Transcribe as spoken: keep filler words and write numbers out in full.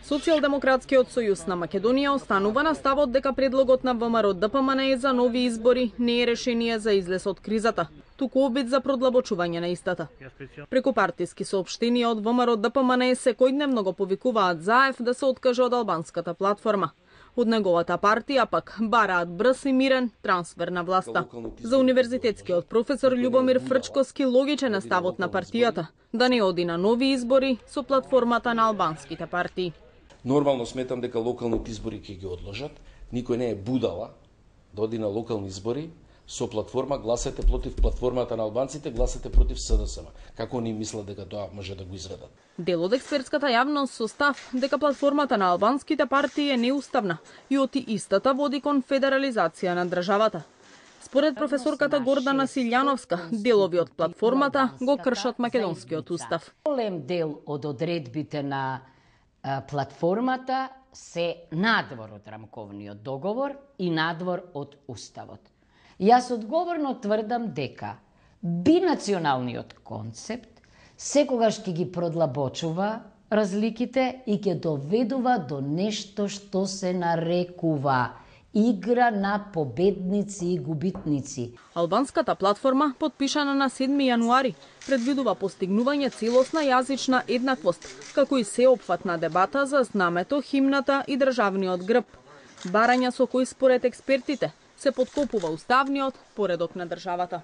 Социјалдемократскиот сојуз на Македонија останува на ставот дека предлогот на ВМРО-ДПМНЕ за нови избори не е решение за излез од кризата, туку обид за продлабочување на истата. Преку партиски соопштенија од ВМРО-ДПМНЕ секојдневно го повикуваат Заев да се откаже од албанската платформа. Од неговата партија пак бараат брз и мирен трансфер на власта. За универзитетскиот професор Љубомир Фрчковски логичен е ставот на партијата да не оди на нови избори со платформата на албанските партии. Нормално сметам дека локалните избори ќе ги одложат. Никој не е будала да оди на локални избори со платформа гласате против платформата на албанците, гласате против СДСМ. Како они мислат дека тоа може да го изведат? Дел од експертската јавност со став дека платформата на албанските партии е неуставна и оти истата води кон федерализација на државата. Според професорката Гордана Силјановска, делови од платформата го кршат македонскиот устав. Голем дел од одредбите на платформата се надвор од рамковниот договор и надвор од уставот. Јас одговорно тврдам дека бинационалниот концепт секогаш ќе ги продлабочува разликите и ќе доведува до нешто што се нарекува игра на победници и губитници. Албанската платформа, подпишана на седми јануари, предвидува постигнување целосна јазична еднаквост, како и сеопфатна дебата за знамето, химната и државниот грб. Барања со кои според експертите се подкопува уставниот поредок на државата.